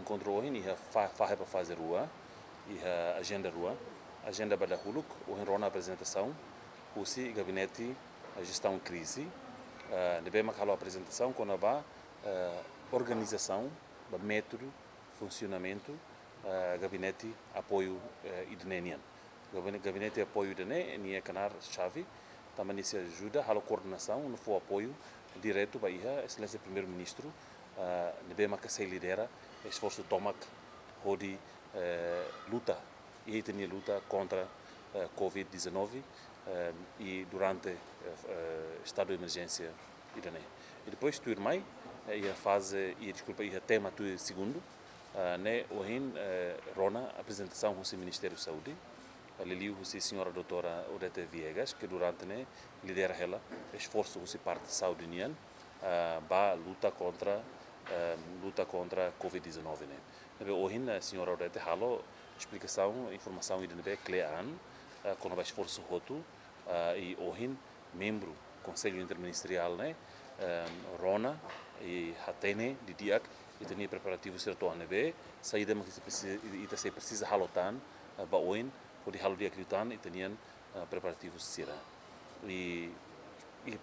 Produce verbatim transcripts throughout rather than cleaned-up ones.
Enkontru ohin iha fa-, fahe ba faze rua, iha ajenda rua. Ajenda ba dahuluk, ohin rona aprezentasaun husi gabinete, eh, jestaun krize, eh, ne'ebé mak halo aprezentasaun kona-ba, eh, organizasaun, ba métodu, funsionamentu, eh, gabinete apoiu, eh, ida-ne'e nian. Gabine-, gabinete apoiu ida-ne'e, nia knaar xave, tanba nia sei ajuda halo koordenasaun no fó apoiu diretu ba iha Exelénsia Primeiru-Ministru, ah, ne'ebé maka sei lidera esforsu tomak hodi, eh, luta, iha ita-nia luta kontra, eh, covid dezanove, eh, i durante, eh, eh, estadu de emerjénsia ida-ne'e. I depois tuirmai, eh, iha faze, i deskulpa, iha tema tuir segundu, ah, ne'e ohin, eh, rona aprezentasaun husi Ministériu Saúde, ah, liuliu husi señora doutora Odete Viegas, ke durante ne'e lidera hela esforsu husi parte saúde nian, ah, ba luta kontra, eh, luta kontra covid dezanove ne'e. Ne'ebé ohin, eh, señora Odete halo esplikasaun, informasaun ida ne'ebé kle'an, eh, kona-ba esforsu hotu, ah, i ohin membru Konsellu Interministeriál ne'e, eh, rona i hatene didi'ak ita-nia preparativu sira to'o ne'ebé, saida mak ita presi-, ita sei presiza halo tan, eh, ba oin, hodi halo di'ak liután ita-nian, eh, preparativu sira. I, i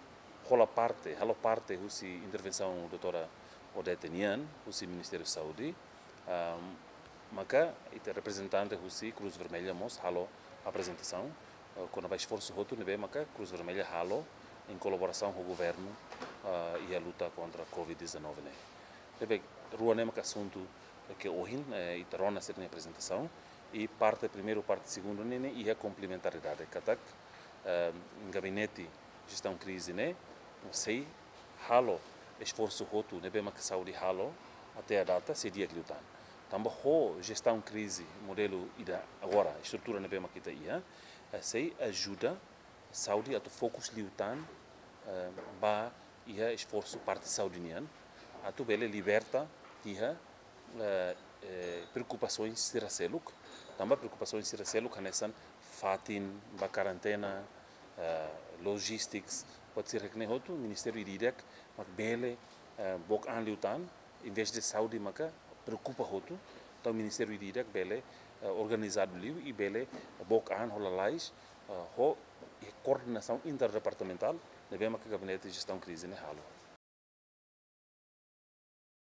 hola parte, halo parte husi intervensaun doutora Odete nian, husi Ministériu Saúde, ah, maka ita reprezentante husi Cruz Vermelha mós halo aprezentasaun, eh, kona-ba esforsu hotu ne'ebé maka Cruz Vermelha halo em kolaborasaun ho governu, ah, iha luta kontra covid dezanove ne'e. Ne'ebé rua ne'e maka asuntu ke ohin, eh, ita rona sira-nia aprezentasaun, i parte primeiru, parte segundu ne'e, ne'e iha komplementaridade, katak, eh, gabinete jestaun krize ne'e sei halo esforsu hotu ne'ebé maka saúde halo até à data sei di'ak liután. Tanba ho jestaun krize modelu ida agora, estrutura ne'ebé maka ita iha, eh, sei ajuda saúde atu fokus liután, eh, ba iha esforsu parte saúde nian, atu bele liberta iha, eh, eh, preokupasaun sira seluk, tanba preokupasaun sira seluk hanesan fatin ba karentena, eh, logistics, buat sira ne'e hotu, ministériu ida-idak mak bele, eh, book an liután, envezde saúde maka preokupa hotu, entaun ministériu ida-idak bele, eh, organizadu liu i bele book an ho lalais, eh, ho, eh, koordenasaun interdepartamentál, ne'ebé maka gabinete jestaun krize ne'e halo.